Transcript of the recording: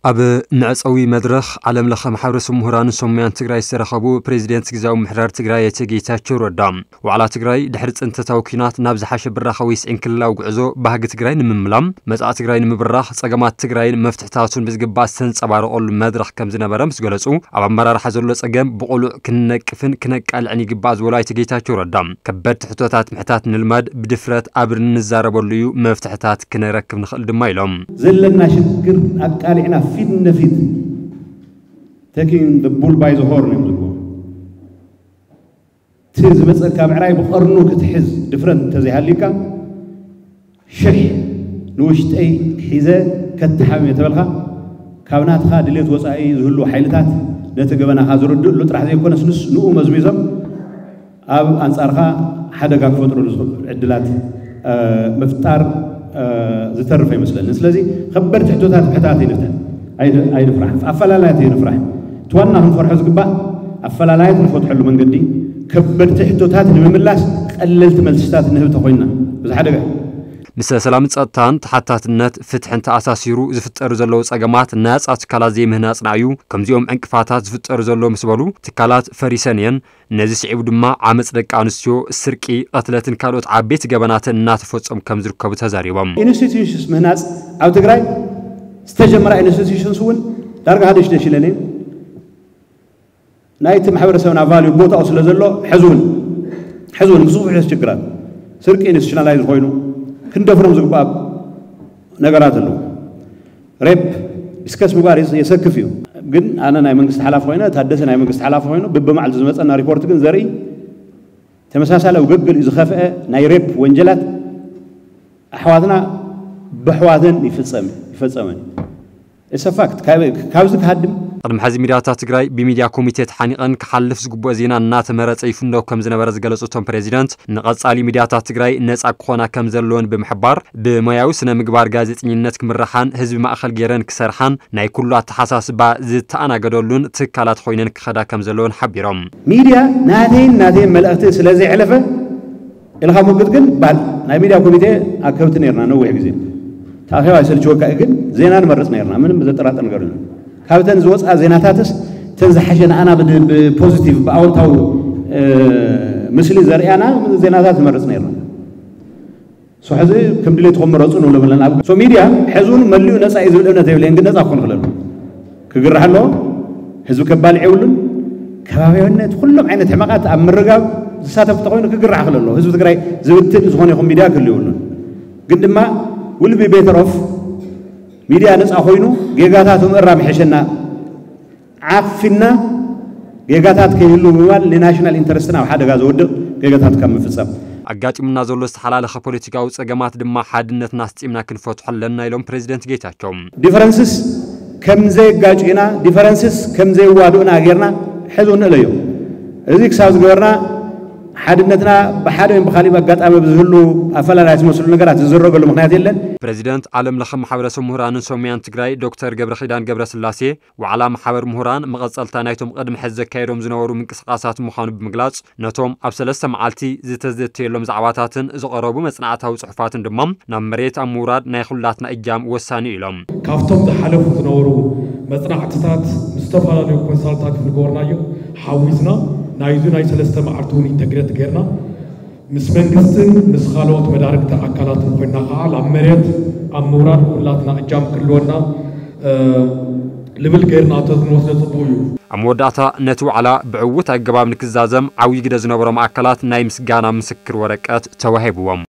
ኣብ መዕጸዊ መድረኽ ዓለም ለኸ ማሕበረሰብ ምሁራንን ሰሙያን ትግራይ ዝተረኸቡ ፕሬዚደንት ግዝያዊ ምምሕዳር ትግራይ ኣይተ ጌታቸው ረዳ፣ ዋዕላ ትግራይ ድሕሪ ጽንተታዊ ኲናት ናብ ዝሓሸ ብራኸ ወይ ስዒን ክልላዊ ጉዕዞ ባህጊ ትግራይ ንምምላም፣ መጻኢ ትግራይ ንምብራኽ፣ ጸገማት ትግራይን መፍትሕታቱን ብዝግባእ ዝተንጸባረቐሉ መድረኽ ከም ዝነበረ ምስ ገለጹ፣ ኣብ ኣመራርሓ ዘሎ ጸገም ብቕሉዕ ክንነቅፍን ክነቃልዕን ይግባእ ዝበሉ ኣይተ ጌታቸው ረዳ፣ ከበድቲ ሕቶታት ምሕታት ንልመድ፣ ብድፍረት ኣብ እንዛረበሉ እዩ መፍትሕታት ክነረክብ ንኽእል ድማ ኢሎም። ዘለና ሽግር ኣቃሊዕና ፊት ንፊት፣ taking the bull by the horn እዮም ዝብልዎ። እቲ ዝመፀካ ብዕራይ ብቐርኑ ክትሕዝ ድፍረት እንተዘይሃልዩካ፣ ሽሕ ንውሽጠይ ሒዘ ከተሓምም እየ ተበልካ፣ ካብ ናትኻ ድሌት ወፃኢ ዝህልዉ ሓይልታት ነቲ ገበናኻ ዝርድእሉ ጥራሕ ዘይኮነስ፣ ንስ-፣ ንኡ መዝሚዞም ኣብ ኣንጻርካ ሓደጋ ክፈጥሩሉ ዝኽእሉ ዕድላት፣ እ፣ ምፍጣር፣ እ፣ ዝተርፍ ኣይመስለንን። ስለዚ ከበድቲ ሕቶታት ምሕታት ኣይንፍትሕ፣ ኣይን-፣ ኣይንፍራሕ፣ ኣፈላላያት ኣይንፍራሕ። እቲ ዋና ክንፈርሖ ዝግባእ ኣፈላላያት ንፈትሐሉ መንገዲ፣ ከበድቲ ሕቶታት ንምምላስ ቀለልቲ መልስታት ንህብ ተኾይንና፣ እዚ ሓደጋ እዩ። ምስ ሰላምን ጸጥታን ተሓታትነት ፍትሕን ተኣሳሲሩ ዝፍጠሩ ዘለዉ ጸገማት ናይ ኣጻ ትካላት ዘይምህናጽና እዩ። ከምዚኦም ዕንቅፋታት ዝፍጠሩ ዘለዉ ምስ በሉ፣ ትካላት ፈሪሰን እየን። ነዚ ስዒቡ ድማ ዓመጽ ደቂ ኣንስትዮ፣ ስርቂ፣ ቅትለትን ካልኦት ዓበይቲ ገበናትን እናተፈጸሙ ከም ዝርከቡ ተዛሪቦም። ኢንስቲትዩሽንስ ምህናጽ ኣብ ትግራይ ዝተጀመራ ኢንስቲትዩሽንስ እውን ዳርጋ ሃደሽደሽ ኢለን እየን። ናይቲ ማሕበረሰብና ቫልዩ ቦታኡ ስለ ዘሎ፣ ሕዚ እውን፣ ሕዚ እውን ምስ ዝውሕስ ችግራት፣ ስርቂ ኢንስቲቱሽናላይዝ ኮይኑ ክንደፍሮም ዝግባእ ነገራት ኣለዉ። ሬፕ ዲስከስ ምግባር የስ-፣ የሰክፍ እዩ። ግን ኣነ ናይ መንግስቲ ሓላፊ ኮይነ፣ ታደሰ ናይ መንግስቲ ሓላፊ ኮይኑ፣ ብብማዕልቱ ዝመፀና ሪፖርት ግን ዘርኢ፣ ተመሳሳሊ ኣብ ገገሊኡ ዝኸፍአ ናይ ሬፕ ወንጀላት ኣሕዋትና ብኣሕዋተን ይፍጸም፣ ይፈጸመን። It's a fact። ካብ-፣ ካብዚ ክሃድም። ቅድሚ ሕዚ ሚድያታት ትግራይ ብሚድያ ኮሚቴ ተሓኒቐን ክሓልፍ ዝግብኦ ዜና እናተመረጸ ይፍነው ከም ዝነበረ ዝገለጹ እቶም ፕሬዚደንት፣ ንቐጻሊ ሚድያታት ትግራይ ነጻ ክኾና ከም ዘለወን ብምሕባር፣ ብሞያዊ ስነ ምግባር ጋዜጠኝነት ክምርሓን ህዝቢ ማእኸል ገይረን ክሰርሓን ናይ ኩሉ ኣተሓሳስባ ዝተኣናገደሉን ትካላት ኮይነን ክኸዳ ከም ዘለወን ሓቢሮም። ሚድያ ናተይን ናተይን መልእኽቲ ስለ ዘየሕለፈ ኢልካ ሞግት ግን ባል ናይ ሚድያ ኮሚቴ ኣከብቲ ነርና ነዊሕ ግዜ። ተኣኺባ ይሰልችወካ እዩ ግን ዜና ንመርጽ ነርና፣ ምንም ዘጠራጥር ነገር የለን። ካብተን ዝወጽኣ ዜናታትስ እተን ዝሓሸ ንኣና ብድ-፣ ብፖዚቲቭ ብኣወንታዊ፣ እ፣ ምስሊ ዘርእያና ዜናታት ንመርጽ ነርና። ሶ ሕዚ ከም ድሌትኩም ምረጹ ንብሎም ኣለና። ኣብ ሶ ሚድያ ሕዚ እውን መሊኡ ነጻ እዩ ዝብል እምነት የብለይን፣ ግን ነጻ ክኾን ይኽእል ኣሎ። ክግራሕ ኣለዎ። ህዝቢ ከባልዕ የብሉን። ከባቢያዊነት ኩሎም ዓይነት ሕመቓት ኣብ ምርጋብ ዝሳተፍ እንተኾይኑ ክግራሕ ይኽእል ኣሎ። ህዝቢ ትግራይ ዝብትን ዝኾነ ይኹን ሚድያ ክህሉ የብሉን። ግን ድማ will be better off ሚድያ ነጻ ኮይኑ ጌጋታቱ ምእራም ይሕሸና። ዓፊና ጌጋታት ከይህሉ ብምባል ንናሽናል ኢንተረስትና ኣብ ሓደጋ ዘወድቕ ጌጋታት ካብ ምፍጻም። ኣጋጢሙና ዘሎ ዝተሓላለኸ ፖለቲካዊ ጸገማት ድማ ሓድነትና ኣስጢምና ክንፈትሖ ኣለና ኢሎም ፕሬዚደንት ጌታቸው። ዲፈረንስስ ከም ዘየጋጭዩና፣ ዲፈረንስስ ከም ዘየዋድኡና ጌርና ሕዚ ንእለዮ። እዚ ክሳብ ዝገበርና ሓድነትና ብሓደ ወይም ብኻሊእ ኣጋጣሚ ብዝህሉ ኣፈላላይ ዝመስሉ ነገራት ዝዝረገሉ ምኽንያት የለን። ፕሬዚደንት ዓለም ለኸ ማሕበረሰብ ምሁራንን ሰሙያን ትግራይ ዶክተር ገብረኺዳን ገብረስላሴ፣ ዋዕላ ማሕበር ምሁራን መቐጸልታ ናይቶም ቅድሚ ሕዚ ዘካየዶም ዝነበሩ ምንቅስቓሳት ምዃኑ ብምግላጽ፣ ነቶም ኣብ ሰለስተ መዓልቲ ዝተዘተየሎም ዛዕባታትን ዝቐረቡ መጽናዕታዊ ጽሑፋትን ድማ ናብ መሬት ኣብ ምውራድ ናይ ኩላትና እጃም ወሳኒ እዩ ኢሎም። ካብቶም ዝሓለፉ ዝነበሩ መጽናዕትታት ምስ ዝተፈላለዩ ኮንሳልታንት ዝገበርናዮ ሓዊስና ናይዚ ናይ ሰለስተ መዓልቲ እውን ኢንተግሬት ጌርና ምስ መንግስትን ምስ ካልኦት መዳርግቲ ኣካላትን ኮይና ከዓ ናብ መሬት ኣብ ምውራድ ኩላትና እጃም ክህልወና፣ እ፣ ልብል ጌርና ተዝንወስዶ ጽቡቕ እዩ። ኣብ መወዳእታ ነቲ ዋዕላ ብዕዉት ኣገባብ ንክዛዘም ዓብዪ ግደ ዝነበሮም ኣካላት ናይ ምስጋና ምስክር ወረቀት ተዋሂብዎም።